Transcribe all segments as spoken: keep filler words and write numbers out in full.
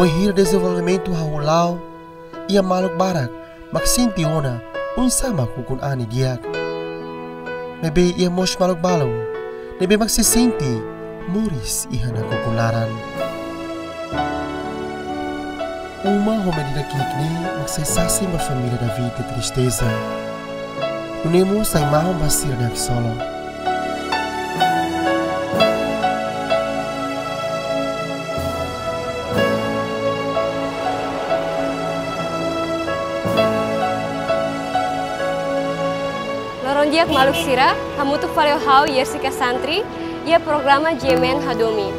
Bainhira dezenvolvimentu hahú la'o, iha maluk barak mak sente ona oinsá mak ukun-an ne'e di'ak. Maibé iha mós maluk balun ne'ebé mak sei sente moris iha nakukun laran. Uma ho medida ki'ik ne'e mak sei sasin ba família David nia tristeza. Nune'e mós sai mahon ba sira-nia haksolok. Loron di'ak maluk sira, hamutuk fali ho ha'u Jessica Santri, iha programa G M N Hadomi.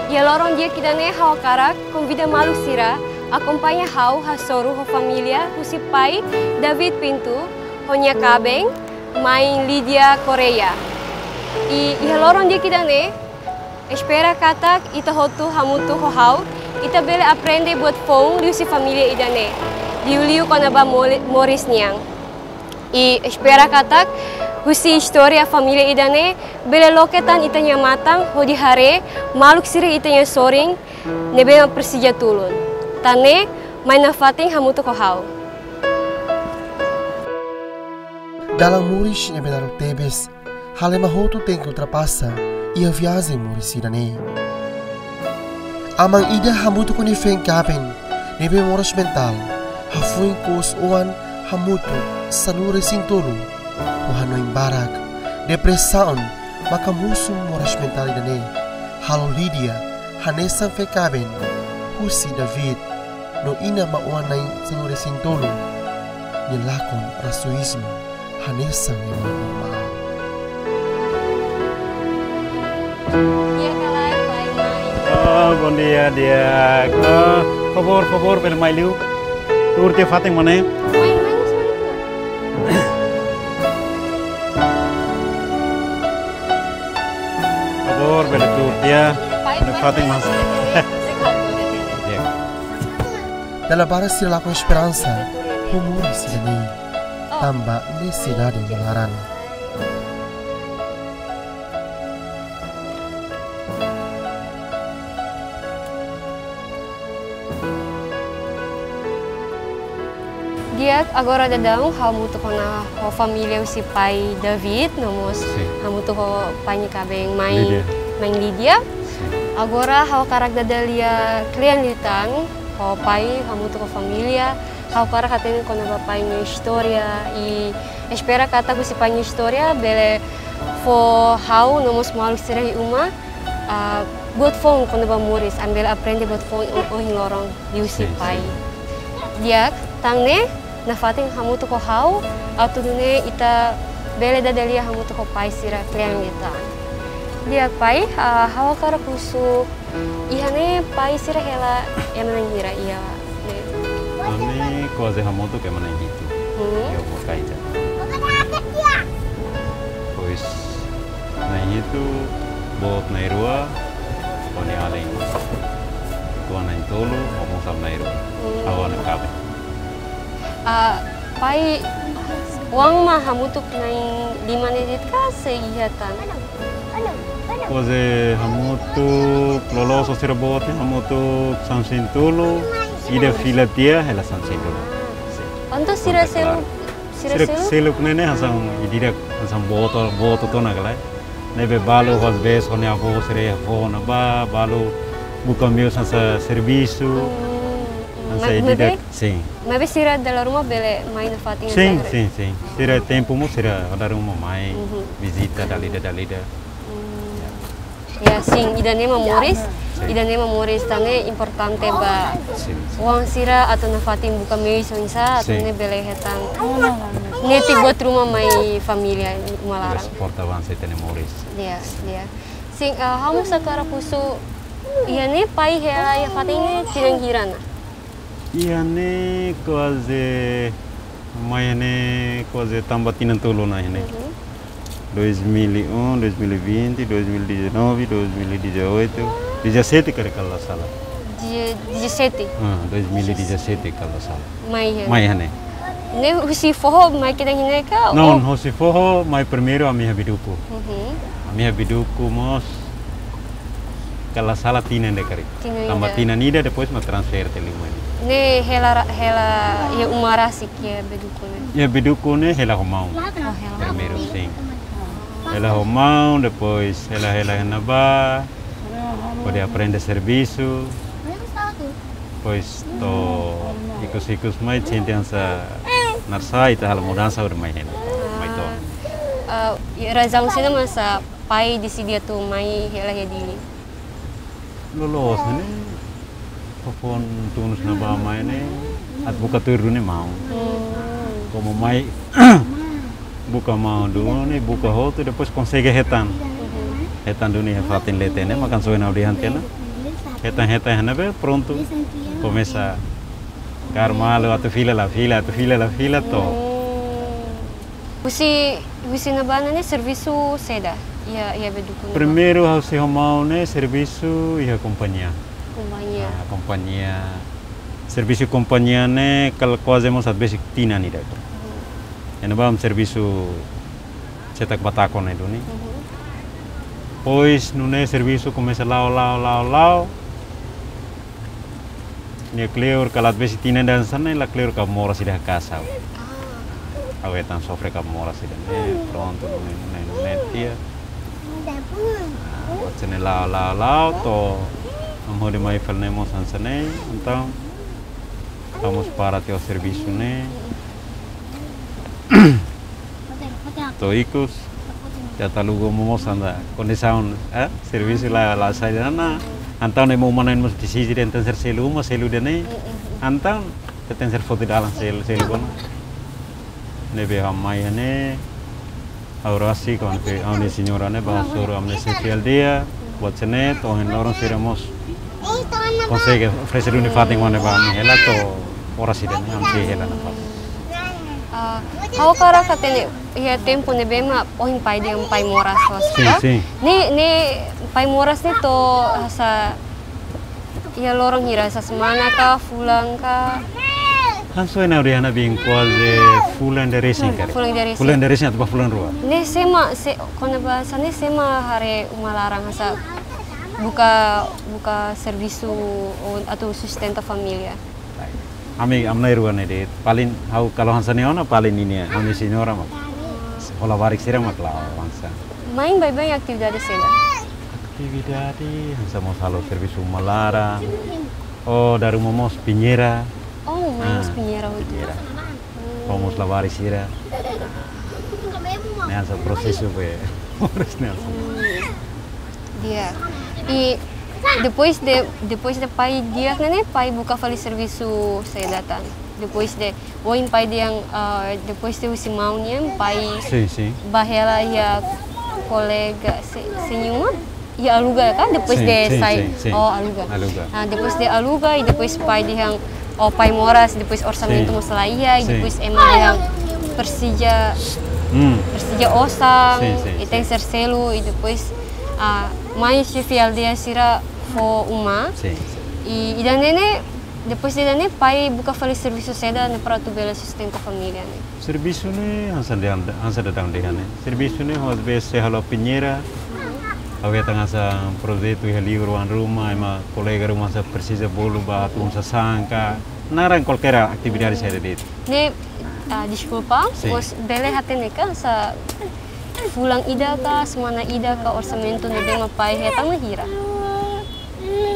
Iha loron di'ak ida-ne'e ha'u hakarak konvida maluk sira akompaña ha'u hasoru ho família husi pai David Pinto, ho nia kaben, mãe Lídia Correia. I iha loron di'ak ida-ne'e, espera katak ita hotu hamutuk ho ha'u, ita bele aprende buat foun liuhusi família ida-ne'e, liuliu kona-ba mole-, moris nian. I espera katak husi istória família ida-ne'e bele loke tan ita-nia matan hodi haree maluk sira ita-nia sorin ne'ebé mak presiza tulun. Tan ne'e, mai nafatin hamutuk ho ha'u. Dalan moris ne'ebé naruk tebes, halo ema hotu tenke ultrapasa iha viajen moris ida-ne'e. Aman ida hamutuk ho nia feen kaben ne'ebé moras mentál, hafoin kous-oan hamutuk sanulu-resin-tolu, ho hanoin barak, depresaun maka mosu moras mentál ida-ne'e, halo Lídia hanesan feen kaben husi David, no inan ba oan na'in sanulu-resin-tolu nia lakon rasuízmu hanesan ema normál. Di'ak ka lae, pai, mãe? Ah, bondia, di'ak. Ah, favór, favór, bele mai liu. Tuur tiha fatin, mana? Mai, mai, mai, mai. Favór, bele tuur tiha. Pai, bele pai, fatin, pai, mas. Pai, pai, pai, pai. Di'ak. Dala barak sira lakon esperansa ho moris ida-ne'e, tanba nesesidade nia laran. Di'ak, agora daudaun ha'u hamutuk ona ho família husi pai David, no mós, sin, hamutuk ho pai nia kaben mãe, Lídia, mãe Lídia. Sin. Agora ha'u hakarak dada lia kle'an liután, ho pai, hamutuk ho família, ha'u hakarak hatene kona-ba pai nia istória, i espera katak husi pai nia istória bele fó ha'u no mós maluk sira iha uma, ah, buat foun kona-ba moris, ami bele aprende buat foun o-, ohin loron liuhusi, sin, pai. Sin. Di'ak, tan ne'e, nafatin hamutuk ho ha'u, atu nune'e ita bele dada lia hamutuk ho pai sira kle'an liután. Di'ak pai, ah, ha'u hakarak husu, iha ne'e pai sira hela ema na'in hira iha ne'e? Ami kuaze hamutuk ema na'in hitu. Hmm. Iha uma kaita. Depois na'in hitu, boot na'in rua, ho nia alin. Tuan na'in tolu, ho mós na'in rua. Hmm. Ha'u hanesan kaben. Ah, pai, oan mak hamutuk na'in lima ne'e de'it ka sei iha tan? Kuaze hamutuk, loloos ho sira boot ne'e hamutuk sanulu-resin-tolu, ida fila tiha hela sanulu-resin-rua. Entaun sira, kontak selu-, klaru, sira, sira selu-, seluk ne'e hanesan ida-idak hanesan boot, boot tiha ona ka lae. Ne'ebé balu às vezes ho nia avó sira iha foho ne'ebá, balu buka meius hanesan servisu. Hmm, hmm. Hanesan, ma-, ida-idak, maibé, sin. Maibé sira dala ruma bele mai nafatin, sin, hanesan, sin, sin. Sira tempu mós sira dala ruma mai, mhm, vizita dala ida, dala ida. Hmm. Ya, sin, ida-ne'e mak moris, sin, ida-ne'e mak moris tan ne'e importante ba, sin, sin, oan sira atu nafatin buka meius oinsá atu, sin, nune'e bele hetan netik buat ruma mai família uma laran. Suporta oan sira-nia moris. Ya, ya. Sin, ah, ha'u mós hakarak husu, iha ne'e pai hela iha fatin ne'e tinan hira ona? Iha ne'e kuaze, mai iha ne'e kuaze tanba tinan tolu ona iha ne'e. Uhum. Dois mil e um, dois mil e vinte, dois mil e dezenove, dois mil e dezoito, dezassete karik, kalau la sala. Dia-, dezassete? Ah, dois mil e dezassete kalau la sala. Mai iha ne'e. Mai iha ne'e. Ne'e husi foho mai kedan iha ne'e ka? Não, oh, husi foho mai primeiru ami iha Biduku. Uhum. Ami iha Biduku mós Kala sala tinan ida karik. Tinan ida. Tanba tinan ida depois mak transfere tiha liu mai. Ne'e hela ra-, hela iha uma rasik iha Beduku ne'e. Iha Beduku ne'e hela ho maun. Oh, hela ho maun. Primeiru, sin. Hela ho maun, depois hela, hela iha ne'ebá, hodi aprende servisu. Depois to'o ikus-ikus mai, sente hanesan naran sá, ita halo mudansa hodi mai hela. Mai to'o. Ah, ah, i razaun saida mak pai deside atu mai hela iha Dili? Loloos ne'e, foufoun tun husi ne'ebá mai ne'e, atu buka tuir duni maun. Hmm. Komu mai buka maun duni, buka hotu, depois konsege hetan. Mhm. Hetan duni iha fatin leten ne'e, mak hanesan ohin ha'u dehan tiha ona. Hetan, hetan iha ne'ebé, prontu. Komesa kaer malu, atu fila la fila, atu fila la fila to'o. Hmm. Husi, husi ne'ebá ne'e servisu saida iha, iha Beduku ne'ebá? Primeiru ha'u sei ho maun ne'e servisu iha kompañia. Kompañia. Ah, kompañia. Servisu kompañia ne'e kala kuaze mós atu besik tinan ida. Hmm. Iha ne'ebá servisu setak batako ne'e duni. Mhm. Depois nune'e servisu komesa la'o, la'o, la'o, la'o. Nia kleur kala atu besik tinan ida hanesan ne'e, la kleur kab moras ida iha kasa. Ah. Ha'u hetan sofre kab moras ida ne'e, prontu, nune'e, nune'e, nune'e tiha. Ah, buat sira-ne'e la'o, la'o, la'o, to'o ami hodi mai fali ne'e mós hanesan ne'e, entaun ha'u mós para tiha servisu ne'e. To'o ikus, ita taluga mós hanesan kondisaun, eh, servisu la, la sai ona. Entaun ema uma na'in mós deside dehan tenke selu uma, selu ida-ne'e. Entaun ita tenke foti dalan selu, selu kona. Ne'ebé ha'u mai ne'e, ha'u rasik ho ami-nia señora ne'e, bá hasoru ami-nia xefe aldeia, buat sira-ne'e, to'o ohin loron sira mós konsege oferese duni fatin ida ne'ebá ami hela to'o oras ida-ne'e ami sei hela nafatin. Ah, ha'u hakarak hatene, iha tempu ne'ebé mak ohin pai dehan pai moras hosi, sin, ka? Sin. Ne'e, ne'e pai moras ne'e to'o hanesan iha loron hira, hanesan semana ka, fulan ka? Hanesan ohin ha'u dehan ona, bem kuaze fulan ida resin karik. Fulan ida resin. Fulan ida resin atu bá fulan rua. Ne'e sé mak, sé, kona-ba hanesan ne'e sé mak haree uma laran hanesan buka, buka servisu atu sustenta família. Ami, ami na'in-rua ne'e de'it. Paling ha'u kalau hanesan ne'e ona paling ninia, ami-nia señora mak. Ho labarik sira mak la'o hanesan. Mai baibain atividade saida? Atividade hanesan mós halo servisu uma laran. Oh, dala ruma mós piñeira. Oh, mai mós piñeira hotu. Piñeira. Ho mós labarik sira. Ne'e hanesan prosesu be. Harus ne'e hanesan. Hmm. Di'ak. I depois de, depois de pai di'ak ne'e, pai buka fali servisu saida tan? Depois de, ohin pai dehan, ah, depois de husi maun nian, pai, sin, sin, bá hela iha kolega se-, señor? Iha Aluga ka? Depois, sin, de, sin, sai, sin, sin. Oh, Aluga. Aluga. Ah, depois de Aluga, i depois pai dehan, oh, pai moras, depois orsamentu, sin, mós la iha, i, sin, depois ema dehan presiza, hmm, presiza osan, sin, sin, i tenke, sin, selu, i depois, ah, mai xefe aldeia sira fó uma. Sin, sin. I, i ida-ne'e, depois de ida-ne'e, pai buka fali servisu saida ne'e para atu bele sustenta família ne'e? Servisu ne'e hanesan dehan, hanesan daudaun dehan ne'e. Servisu ne'e, às vezes, sei halo piñeira, ha'u hetan hanesan projetu iha liur oan ruma, ema kolega ruma hanesan presiza bolu ba atu un sasán ka. Naran kualkér atividade saida de'it. Ne'e, ah, deskulpa, sin, mós bele hatene ka, hanesan fulan ida ka, semana ida ka, orsamentu ne'ebé mak pai hetan mak hira?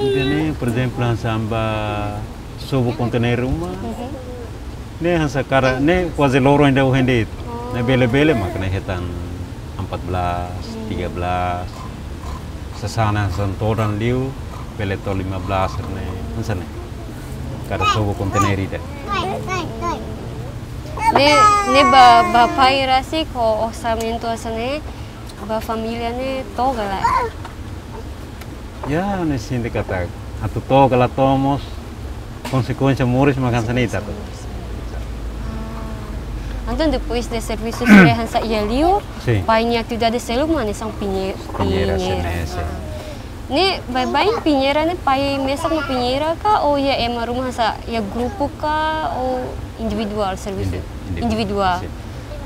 Ida-ne'e, por ezemplu, hanesan ba sobu konteiner uma. Mhm. Ne'e hanesan karik, ne'e kuaze loron ida ohin de'it. Oh. Ne'e bele-bele mak ne'e hetan empat belas, hmm, tiga belas. Sasán hanesan todan liu, bele to'o lima belas ne'e, hanesan ne'e. Karik sobu konteiner ida. Ne'e, ne'e ba, ba pai rasik ho orsamentu hanesan ne'e, ba família ne'e to'o ka lae? Ya, ne'e sente katak atu to'o ka la to'o mós konsekuénsia moris mak hanesan ne'e ita atu. Ah. Entaun depois de servisu sira hanesan iha liur, sin, pai nia atividade seluk mak hanesan piñe-, piñeira, piñeira, sin, ne'e, sin. Ah. Ne'e baibain piñeira ne'e pai mesak mak piñeira ka, ou iha ema ruma hanesan iha grupu ka, ou individuál servisu? Indi-, individuál. Individuál. Sin.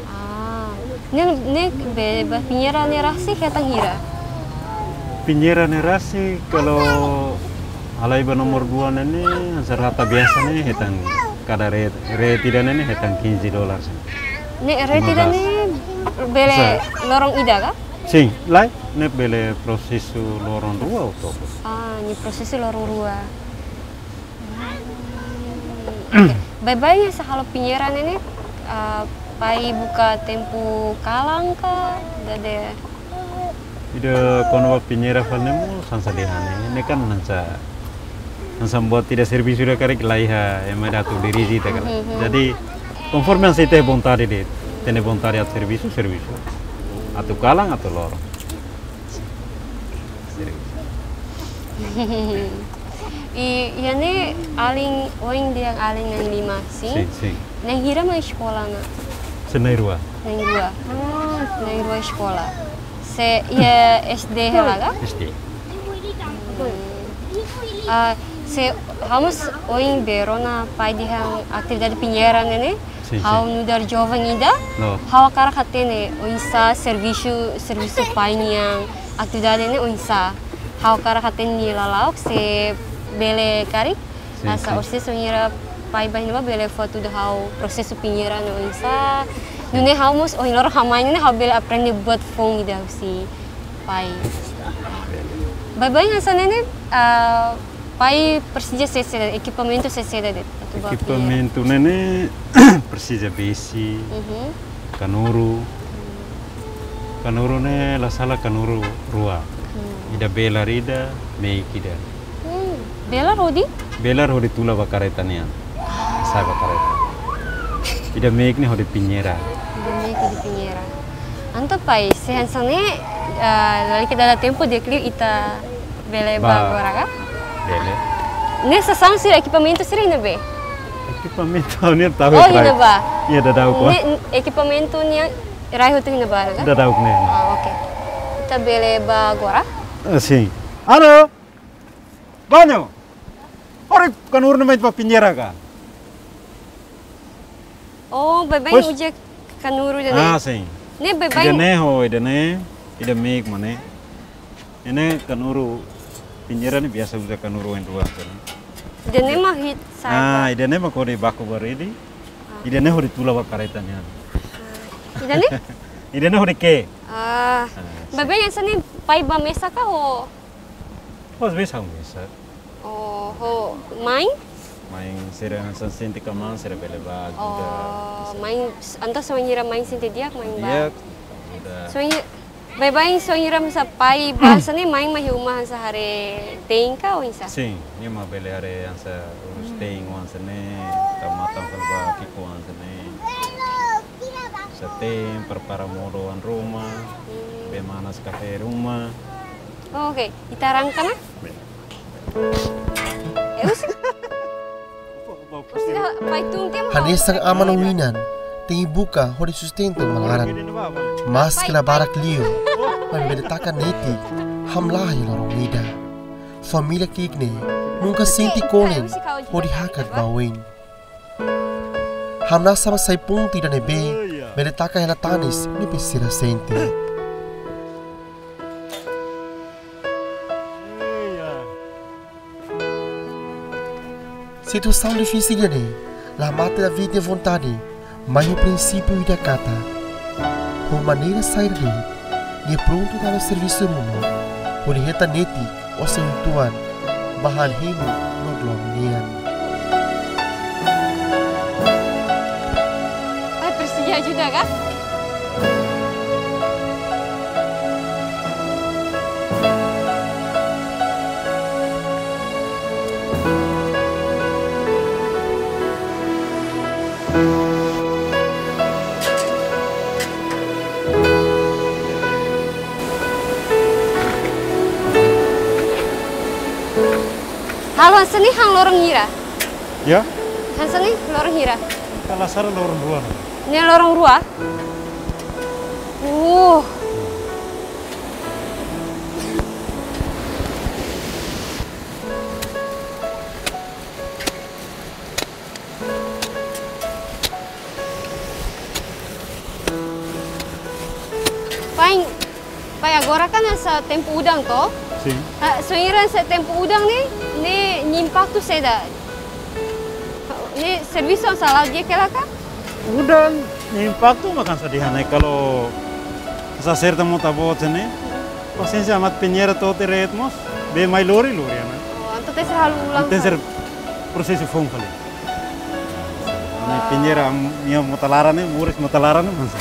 Ah. Ne'e, ne'e be, be piñeira ne'e rasik hetan hira? Pinheira ne'e rasik, kalau halai ba nomor dua ne'e ne'e, hanesan rata biasa ne'e, hetan kada re-, reti ida ne'e ne'e, hetan quinze dólares. Ne'e reti ida ne'e bele loron ida ka? Sin, lae, ne'e bele prosesu loron rua ou tolu. Ah, ne'e prosesu loron rua. Oke. Baibain hanesan halo pinheira ne'e ne'e, ah, pai buka tempu kalan ka, dade? Ida kona-ba pinheira fali ne'e mós hanesan dehan ne'e, ne'e kan hanesan, hanesan buat ida servisu ida karik la iha ema ida atu dirije ita kan. Mhm. Jadi, konforme hanesan ita-nia vontade de'it, ita-nia vontade atu servisu, servisu. Atu kalan, atu loron. I, iha ne'e alin, oin dehan alin na'in-lima, sin? Sin, sin. Na'in hira mak eskola ona? Se na'in-rua. Na'in-rua. Na'in-rua eskola. Se iha S D hela ka? S D. Hmm. Ah, se ha'u mós oin bee rona pai dehan atividade pinheira ne'e ne'e, sin, ha'u nu'udar joven ida, no, ha'u hakarak hatene oinsá servisu, servisu pai nian, atividade ne'e oinsá. Ha'u hakarak hatene nia lala'ok se bele karik. Sin, hanesan, sin. Orsida se ohin hira pai ba iha ne'ebá bele fó hatudu ha'u prosesu pinheira ne'e oinsá. Nune'e ha'u mós ohin loron ha'u mai ne'e ha'u bele aprende buat foun ida husi pai. Baibain hanesan ne'e ne'e, ah, pai presiza saida, ekipamentu saida de'it atu ba pinheira? Ekipamentu ne'e ne'e presiza besi, mhm, kanuru. Kanuru ne'e la sala kanuru rua. Hmm. Ida belar ida, meik ida. Hmm. Belar hodi? Belar hodi tula ba karreta nian. Sa'e ba karreta. Ida meik ne'e hodi pinheira. Ida meik hodi pinheira. Entaun pai, se hanesan ne'e, ah, lalika dada tempu di'ak liu ita bele ba, ba agora ka? Bele. Ne'e sasán sira, ekipamentu sira iha ne'ebé? Ekipamentu ha'u-nian tau. Oh, iha ne'ebá. Iha dadauk. Ne'e ekipamentu nian rai hotu iha ne'ebá ka? Dadauk ne'e. Ah, oke. Ita bele ba agora? Ah, sin. Halo. Banho. Hori kanuru ne'e mai ba pinheira ka? Oh, baibain, pois, uza kanuru ida ne'e. Ah, sin. Ne'e baibain. Ida ne'e ho, ida ne'e, ida meik mak ne'e. Ne'e kanuru pinheira ne'e biasa uza kanuru oin rua kan. Ida ne'e mak hit sai. Ah, ida ne'e mak hodi baku ba redi. Ah. Ida ne'e hodi tula ba karreta nian. Ah. Ida ne'e? Ida ne'e hodi ke'e. Ah. Ah, sin. Baibain hanesan ne'e pai ba mesak ka ho? Ho, às vezes ha'u mesak. Oh, ho mãe? Mãe sira hanesan sente kamaan sira bele ba ajuda. Oh, mãe, entaun se ohin hira mãe sente di'ak, mãe ba. Di'ak, ajuda. Se ohin, baibain se ohin hira hanesan pai ba hanesan ne'e, mãe mak iha uma hanesan haree te'in ka oinsá? Sin, nia mak bele haree hanesan urus te'in hanesan ne'e, tau matan fali ba ki'ikoan hanesan ne'e. Hanesan te'in, prepara modo oan ruma, hmm, bee manas kafé ruma. Oh, oke, ita arranka ona? Bem. Eh, usi. Usi, pai tun tem. Hanesan aman no inan, tenke buka hodi sustenta uma laran. Maske la barak liu, maibé bele taka netik, hamlaha iha loron ida. Família ki'ik ne'e nunka sente kolen hodi hakat ba oin. Hamnasa mak sai pontu ida ne'ebé bele taka hela tanis ne'ebé sira sente. Situasaun difisil ida-ne'e la mate David nia vontade, mai ho prinsípiu ida katak, ho maneira saida de'it, nia prontu tau servisu ruma, hodi hetan netik ou sei uitoan ba han hemu no dlomin nian. Ai, presiza ajuda ka? Halo, hanesan ne'e han loron hira? Ya? Hanesan ne'e loron hira? Kalau sara loron rua. Ne'e loron rua? Uh. Pai, pai, agora kan hanesan tempu udan to? Ah, so iran se tempu udan ne'e, ne'e nia impaktu saida? Ne'e servisu hanesan la'o di'ak hela ka? Udan, nia impaktu mak hanesan dehan ne'e, kalau hanesan serta mota boot hanesan ne'e, pasiénsia, mat pinheira to'o tiha de'it mós, bee mai lori, lori ona. Oh, entaun tenke ser halo ulang. Tenke ser prosesu foun fali. Ne'e pinheira, am, nia mota laran ne'e, moris mota laran ne'e, mas.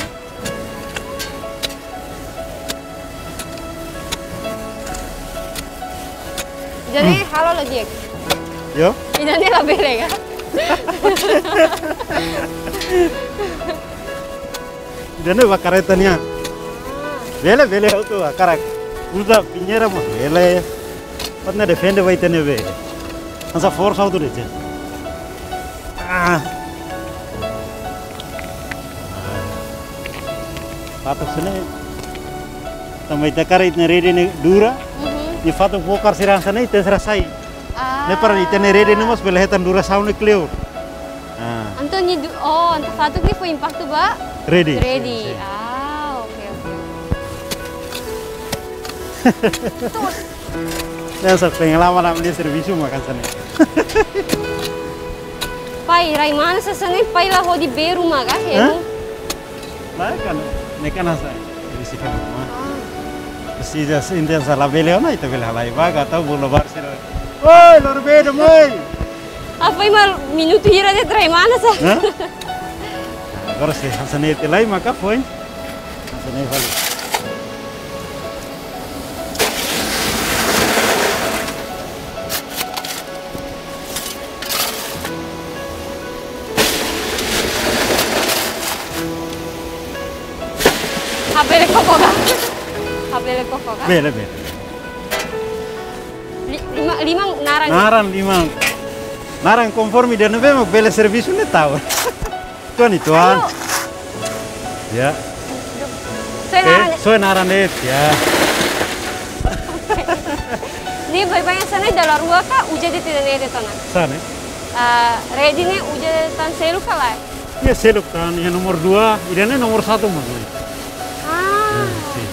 Jadi, hmm, halo lagi ya? Yo? Ida-ne'e labele ka? Ida-ne'e ba kareta nian. Ah. Bele, bele, ha'u atu hakarak uza pinheira mós bele. Atu defende ba ita-nia bee. Hanesan forsa ha'u atu dehan. Ah. Fatuk hanesan ne'e. Tanba ita hakarak ita-nia rede ne'e dura. Mhm. Nia fatuk bokar sira hanesan ne'e, ita sira sai. Ah. Ne'e para ita-nia rede ne'e mós bele hetan durasaun ne'e kleur. Ah. Entaun nia du-, oh, entaun fatuk ne'e fó impaktu ba? Rede. Rede. Sin, sin. Ah, oke, oke. Terus. Hanesan pengalaman ami-nia servisu mak hanesan ne'e. Pai, rai mana hanesan ne'e, pai la hodi bee ruma ka? Hah? Ema? Lae, kan, ne'e kan hanesan, isi kan ruma. Ah. Presiza, se ita hanesan labele ona, ita bele halai ba, ka tau bolu ba sira. Oi, lori bee de'it mai. Apa ima minutu hira de'it rai mana hanesan? Hah? Agora se hanesan ne'e tiha lai maka foin. Hanesan ne'e fali. Labele koko ka? Labele koko ka? Bele, bele. Li-, liman, liman naran. Naran liman. Naran konforme ida-ne'ebé mak bele servisu ne'e tau. Tuan, tuan. Ayo. Ya. Soe naran de'it. Eh, soe naran de'it, ya. Ne'e baibain hanesan ne'e dala rua ka uza de'it ida-ne'e de'it ona? Hanesan ne'e. Ah, rede ne'e uza tan seluk ka lae? Ya, seluk tan, ya nomor dua, ida-ne'e nomor satu mak ne'e. Ah. Ya, sin.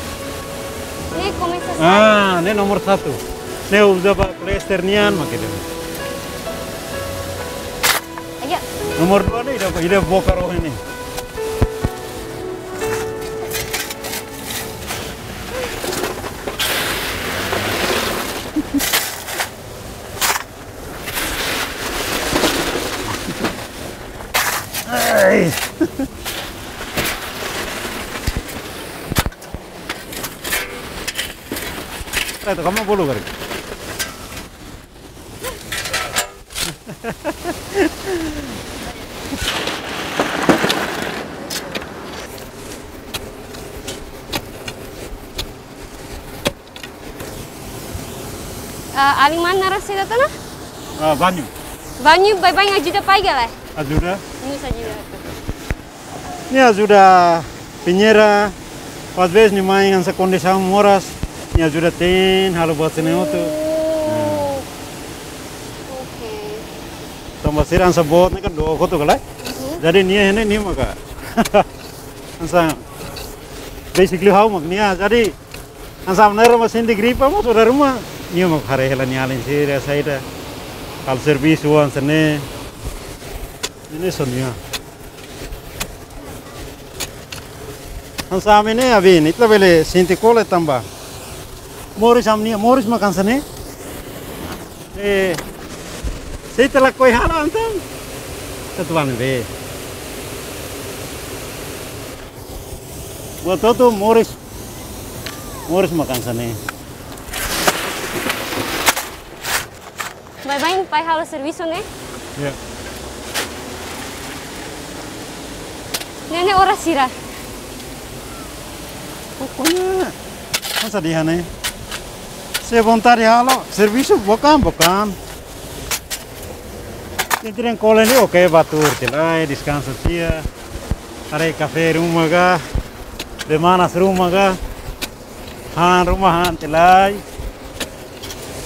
Ne'e komesa hanesan ne'e. Ah, ne'e nomor satu. Ne'e uza ba klester nian mak ida. Ayo. Nomor dua ne'e ida, ida bokar ohin ne'e. Ai. Ai, tu kamu bolu kari. Ah, alin mana naran saida tiha ona? Ah, Banyu. Banyu, baibain ajuda pai ka lae? Ajuda. Ne'e ajuda. Nia ajuda pinheira, às vezes nia mai hanesan kondisaun moras, nia ajuda te'in, halo buat sira-ne'e hotu. Oh. Nah. Oke. Tanba sira hanesan boot ne'e kan dook hotu ka lae. Mhm. Jadi nia iha ne'e nia maka hanesan basically ha'u mak nia. Jadi hanesan ne'e ruma sente gripa mós, sira ruma nia mak haree hela nia alin sira saida. Halo servisu hanesan ne'e. Ne'e só nia. Hanesan ami ne'e, abi, ne'e ita labele sente kole tanba moris ami-nia, moris mak hanesan ne'e. Eh, se ita lakohi halo entaun, ita tuan be. Buat hotu moris, moris mak hanesan ne'e. Baibain pai halo servisu ne'e? Ya. Ne'e ne'e oras hira? Pokoknya, hanesan dehan ne'e. Se vontade halo, servisu bukan, bukan. Sente dehan kole ne'e, oke, bá tuur tiha lai, deskansa tiha. Haree kafé ruma ka, bee manas ruma ka. Han ruma han tiha lai.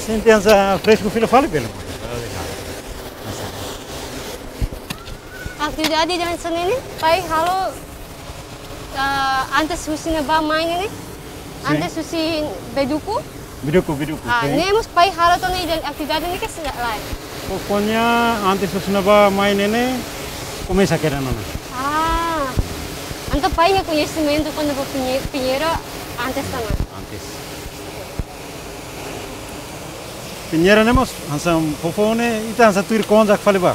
Sente hanesan fresku fila fali bele. Atividade hanesan ne'e, pai halo, ah, antes husi ne'ebá mai ne'e. Sin. Antes husi bee duku. Biduku, biduku. Ah, ne'e mós pai halo tiha ona ida atividade ne'e ka seidauk? Pokoknya antes husi ne'ebá mai ne'e ne'e komesa kedas ona. Ah. Entaun pai iha koñesimentu kona-ba pinhe-, pinheira antes tiha ona? Antes. Pinheira ne'e mós hanesan foufoun ne'e, ita hanesan tuir konjak fali ba.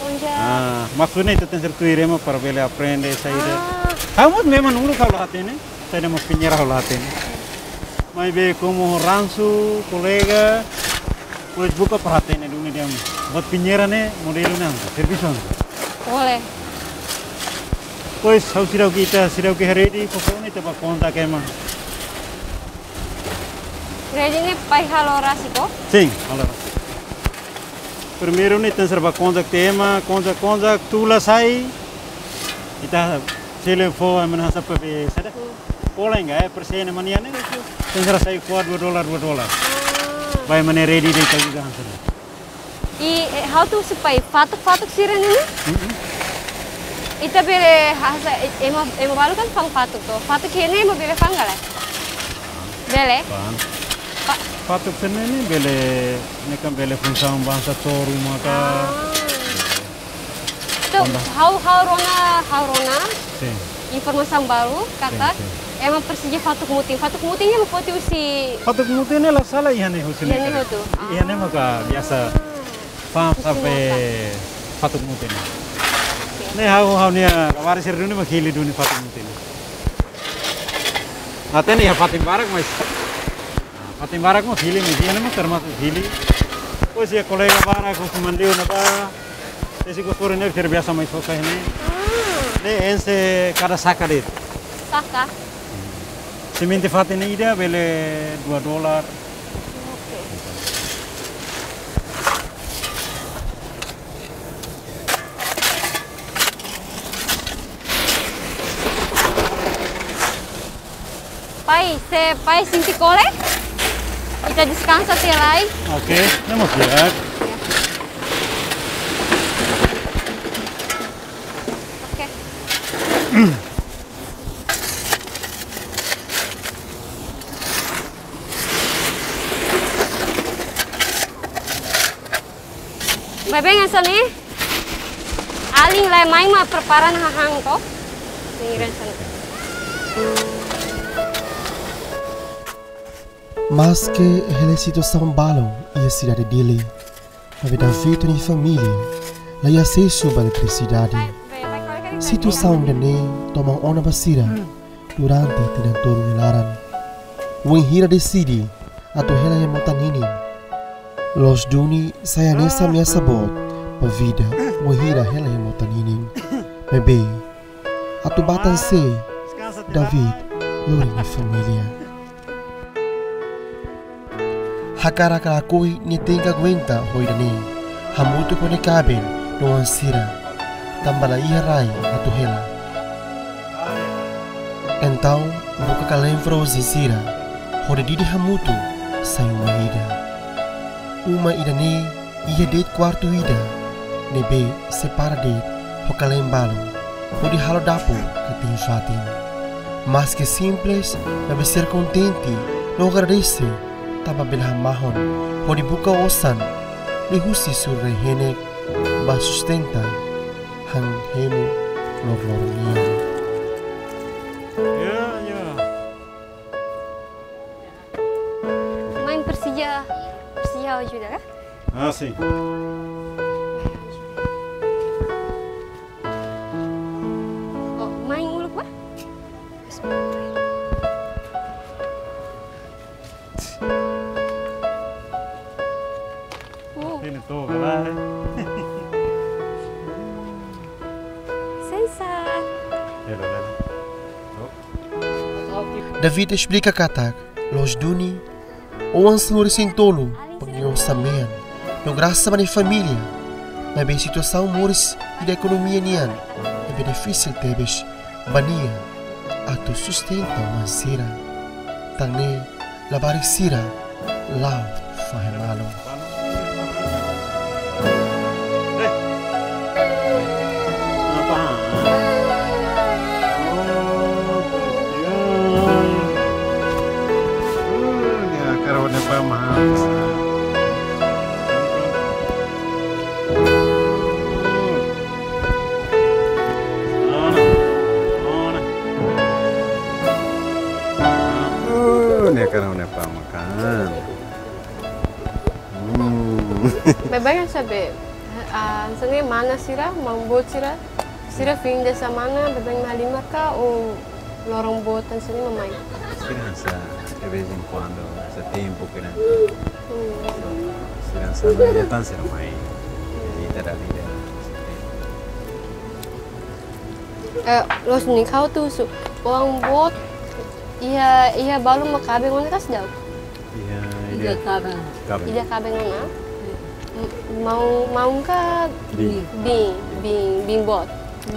Konjak. Ah, maksudnya ita tenke tuir ema para bele aprende saida. Ah. Ha'u mós memang uluk ha'u la hatene, saida mak pinheira ha'u la hatene. Maibé komu ransu, kolega, depois buka para hatene duni de'it. Buat pinheira ne'e modelu ne'e, servisu ne'e. Boleh. Depois, ha'u seidauk, ita seidauk iha redi, foufoun ne'e ita bá konta ke ema. Redi ne'e pai halo rasik ka? Sin, halo rasik. Primeiru ne'e tenke bá konta tiha ema, konta, konta, tula sai. Ita sele fó, ema hanesan papel, saida? Hmm. Pola enggak, eh, persen ema nian ne'e. Tenke sai fó dua dolar, dua dolar. Ah. Ba ema ne'e redi de'it ita juga hanesan. I, eh, ha'u atu husu pai, fatuk-fatuk sira-ne'e ne'e? Mm-mm. Ita bele hanesan, eh, ema, ema balu kan fa'an fatuk to. Fatuk iha ne'e ema bele fa'an ka lae? Bele? Fa'an. Fa- Fatuk sira-ne'e ne'e bele, ne'e kan bele funsaun ba hanesan toru maka. Ah. Entaun, ha'u, ha'u rona, ha'u rona. Sin. Informasaun balu, katak, sin, sin, ema presiza fatuk mutin. Fatuk mutin ne'e ema foti husi. Fatuk mutin ne'e la sala iha ne'e husi ne'e. Iha ne'e hotu. Iha ne'e maka biasa. Ah. Fa'an sampai fatuk mutin. Oke. Ne'e ha'u, ha'u-nia labarik sira duni mak hili duni fatuk mutin. Hatene iha fatin barak, mas. Ah, fatin barak mós hili, mas iha ne'e mós termasuk hili. Depois iha kolega barak, husi Manleu ne'ebá. Tesi gosori ne'e, terbiasa mai sosa ne'e. Ah. Ne'e enxe kada saka de'it. Saka? Semente fatin ida bele dua dolar. Oke. Pai, se pai sente kole, ita deskansa tiha lai. Oke, ne'e mós di'ak. Ya. Oke. Baibain hanesan ne'e. Alin lai mai mak prepara ona hahán to. Singren sana. Maske hela situasaun balun iha sidade Dili, maibé David nia família la iha asesu ba eletrisidade. Situasaun ida-ne'e toman ona ba sira durante tinan tolu nia laran. Wainhira deside atu hela iha mota ninin, loos duni sai hanesan ameasa boot ba vida wainhira hela iha mota ninin. Maibé, atu ba tan sé, David lori nia família. Hakarak ka lakohi nia tenke aguenta ho ida-ne'e, hamutuk ho nia kaben no oan sira, tanba la iha rai atu hela. Entaun, buka kalén frozen sira, hodi didi hamutuk sai uma ida. Uma ida-ne'e iha de'it kuartu ida, ne'ebé separa de'it ho kalén balun, hodi halo dapur ka tiha fatin. Maske simples, maibé sira kontente no agradese tanba bele hamahon hodi buka osan liuhusi suru-rai-henek ba sustenta han hemu loroloron nian. Ya, ya. Main presiza, presiza ajuda ka? Ah, sin. Oh, main uluk ba? Oh. Ini tuh, kan? Sensor. Hello, hello. Oh. David esplika katak, loos duni, oan sanulu-resin-tolu, pangilosa mean, no grasa ba nia família, maibé situasaun moris ida ekonomia nian, ne'ebé difisil tebes ba nia atu sustenta oan sira. Tan ne'e, labarik sira la'o fahe malu. Ne'e karau ne pa makan. Hmm. Baibain sabe, ah, hanesan ne'e mana sira, maun-boot sira, sira fim de semana, baibain mak halimar ka, ou loron boot hanesan ne'e mak mai? Sira hanesan, de vez em quando, hanesan tempu kira. Hmm. Sira hanesan, datang sira mai. Jadi, tidak ada. Eh, loos duni, ha'u atu husu. Oan boot, iha, iha balun mak kaben ona ka seidauk? Iha, ida, ida kaben. Kaben. Ida kaben ona? Iya. M-, maun, maun ka? Biin. Biin, biin, biin boot.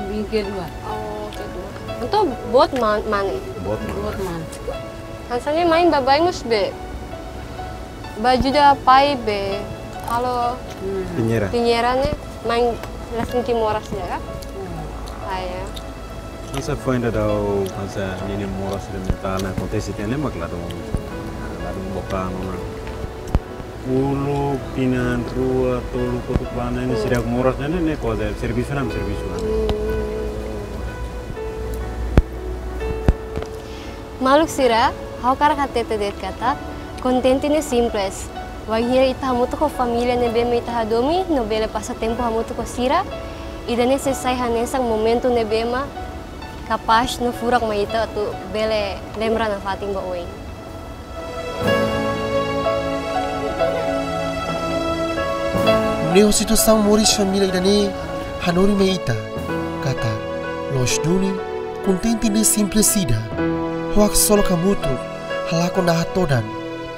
Biin kedua. Oh, kedua. Entaun boot man-, mane? Boot mane. Boot mane. Hanesan ne'e main baibain mós be. Ba ajuda pai be. Halo. Hmm. Pinheira. Pinheira ne'e main la sente moras ida ka? Hmm. Ah, ya. Hanesan foin daudaun, hanesan ninia moras ida mentál ne'e akontese tiha ne'e mak ladún, ladún bokan ona. Uluk, tinan rua, tolu, kotuk ba ne'e, hmm, seidauk moras ne'e, ne'e, ne'e kuaze servisu ona, servisu ona. Hmm. Maluk sira, ha'u hakarak hatete de'it katak, kontente ne'e simples. Wainhira ita hamutuk ho família ne'ebé mak ita hadomi, no bele pasa tempu hamutuk ho sira, ida-ne'e sei sai hanesan momentu ne'ebé mak kapás no furak mai ita atu bele lembra nafatin ba oin. Nune'e situasaun moris família ida-ne'e hanorin mai ita katak loos duni, kontente ne'e simples ida. Ho haksolok hamutuk halakon naha todan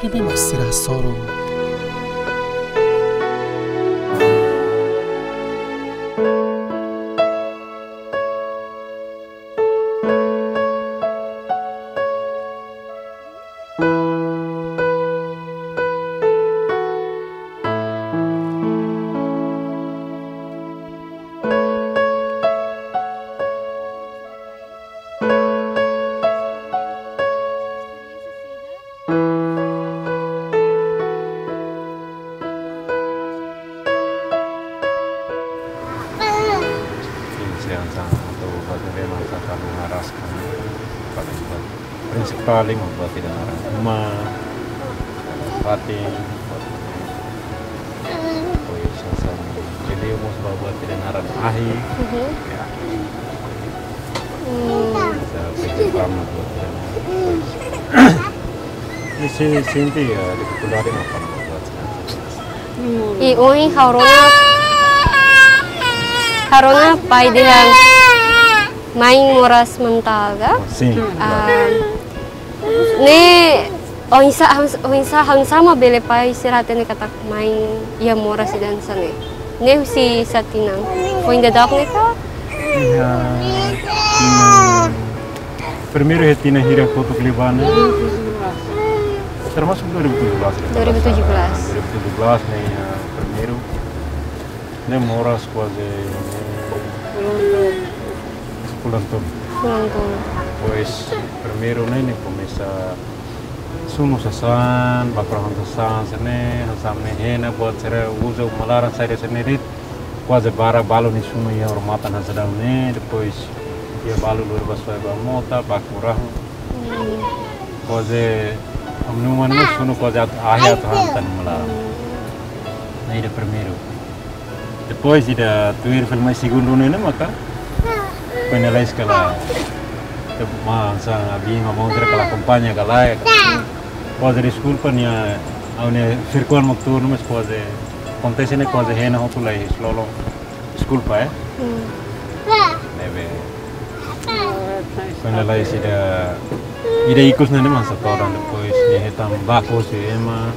ne'ebé mak sira hasoru. Sim, sim, sim. Atu buat ne'ebé mak atu halo haras kan. Paling buat prinsipál mak buat ida naran uma, fatin, pois hanesan, jadi mós ba buat ida naran ahi. Mhm. Ya. Hmm. Hanesan prinsipál mak buat ida naran. Di sini sente ya difikuldade mak buat. Hmm. I ohin ha'u rona, ha'u rona pai dehan main moras mentál ka? Sim. Ah, ne'e oinsá, oinsá, oinsá mak bele pai sira hatene katak main iha moras ida hanesan ne'e? Ne'e husi sá tinan? Foin daudauk ne'e ka? Iha tinan, primeiru iha tinan hira kotuk liubá ne'e. Termasuk dua ribu tujuh belas ya. Dua ribu tujuh belas. Dua ribu tujuh belas ne'e iha primeiru. Ne'e moras kuaze ne'e fulan tolu. Fulan tolu. Depois, primeiru ne'e, ne'e komesa sunu sasán, baku rahun sasán, hanesan ne'e, hanesan ne'e hena buat sira uza uma laran saida hanesan ne'e de'it. Kuaze barak balu nia sunu iha odamatan hanesan ne'e, depois iha balu lori ba soe ba mota, baku rahun. Hmm. Kuaze, ami-nia uma ne'e sunu kuaze atu, ahi atu han tan uma laran. Hmm. Ne'e ida primeiru. Depois ida tuir fali mai segundu ne'e maka foin lalais ka lae. Te ma hanesan abin ho maun sira ka la akompaña ka lae. Kuaze deskulpa nia, ha'u-nia firkuan mak turun mas kuaze akontese ne'e kuaze hena hotu lai islolo. Deskulpa, eh. Hmm. Ne'ebé. Foin lalais ida, ida ikus ne'e mak hanesan todan depois nia hetan baku husi ema.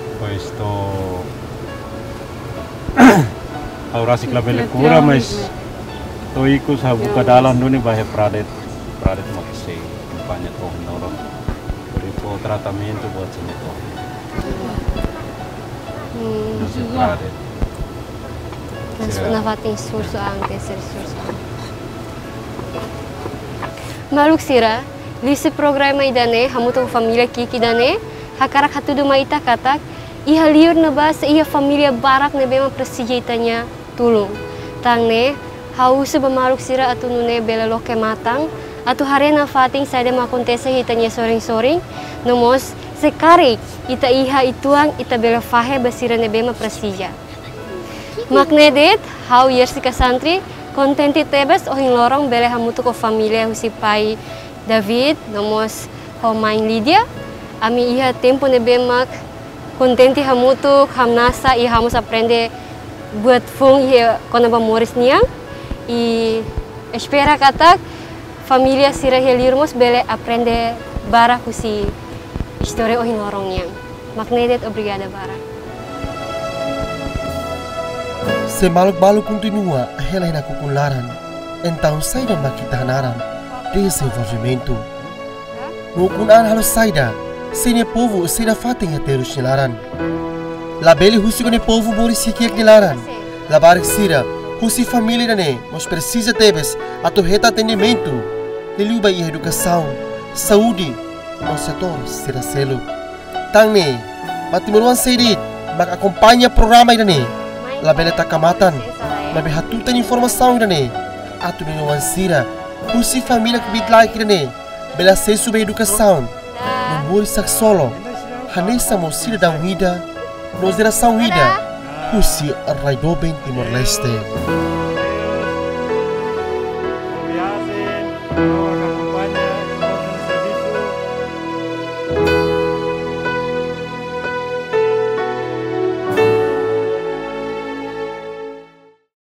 Depois to'o ha'u rasik labele kura, mas to'o ikus ha'u buka dalan duni ba iha Pradet. Pradet mak sei akompaña to'o nolon. Depois tratamentu buat sira to'o. Hmm. Nasi Pradet. Mas sira nafatin esforsu an, ke ser esforsu an. Maluk sira, liuhusi programa ida-ne'e, hamutuk ho família ki'ik ida-ne'e, hakarak hatudu mai ita katak, iha liur ne'ebá sei iha família barak ne'ebé mak presiza ita-nia tulun. Tan ne'e, ha'u husu ba maluk sira atu nune'e bele loke matan, Atu haree nafatin saida mak akontese iha ita-nia sorin-sorin, no mós se karik ita iha uitoan, ita bele fahe ba sira ne'ebé mak presiza. Mak ne'e de'it, ha'u Yersika Santri, kontente tebes ohin loron bele hamutuk ho família husi pai David, no mós ho mãe Lídia. Ami iha tempu ne'ebé mak kontente hamutuk, hamnasa i ha'u mós aprende buat foun iha kona-ba moris nian. I espera katak família sira iha liur mós bele aprende barak husi istória ohin loron nian. Mak ne'e de'it, obrigada barak. Se maluk balu kontinua hela iha nakukun laran, entaun saida mak ita hanaran dezenvolvimentu? No ukun an halo saida, se nia povu sei nafatin iha terus nia laran? Labele husik nia povu moris kiak-kiak nia laran. Labarik sira husi família ida-ne'e mós presiza tebes atu hetan atendimentu, liuliu ba iha edukasaun, saúde, no setór sira seluk. Tan ne'e, ba timoroan sira de'it mak akompaña programa ida-ne'e, labele taka matan, maibé hatutan informasaun ida-ne'e, atu ninia oan sira husi família kbiit-laek ida-ne'e bele asesu ba edukasaun no moris haksolok, hanesan mós sidadaun ida no jerasaun ida husi rai doben Timor-Leste.